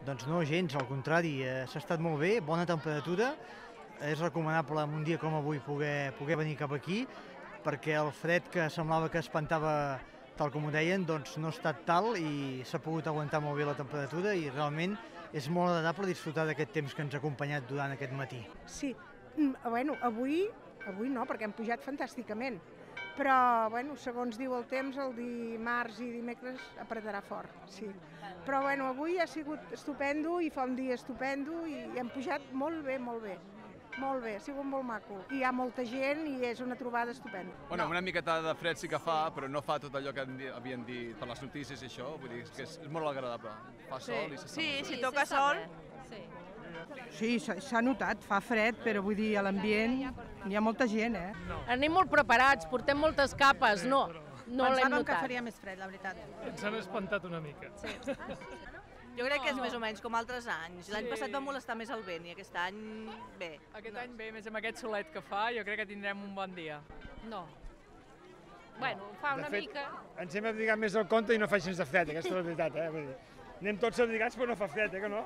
Doncs no gens, al contrari, s'ha estat molt bé, bona temperatura, és recomanable en un dia com avui poder venir cap aquí, perquè el fred que semblava que espantava, tal com ho deien, doncs no ha estat tal i s'ha pogut aguantar molt bé la temperatura i realment és molt agradable disfrutar d'aquest temps que ens ha acompanyat durant aquest matí. Sí, bueno, avui no, perquè hem pujat fantàsticament, però bueno, segons diu el temps, el dimarts i dimecres apretarà fort, sí. Però bueno, avui ha sigut estupendo i fa un dia estupendo i hem pujat molt bé, molt bé. Molt bé, ha sigut molt maco. Hi ha molta gent i és una trobada estupenda. Bueno, una miqueta de fred sí que fa, però no fa tot allò que havien dit per les notícies i això, vull dir que és molt agradable. Fa sol i s'està Sí, molt bé. si toca sol. Sí, s'ha notat, fa fred, però vull dir, a l'ambient hi ha molta gent, Anem molt preparats, portem moltes capes, no l'hem Pensàvem que notat. faria més fred, la veritat. Ens han espantat una mica. Jo crec que és més o menys com altres anys. L'any passat va molestar més el vent i aquest any bé. Aquest any bé, més amb aquest solet que fa, jo crec que tindrem un bon dia. No. Bueno, fa una mica. Ens hem abrigat més del compte i no fa gens de fred, aquesta és la veritat, Vull dir, anem tots abrigats però no fa fred, que no?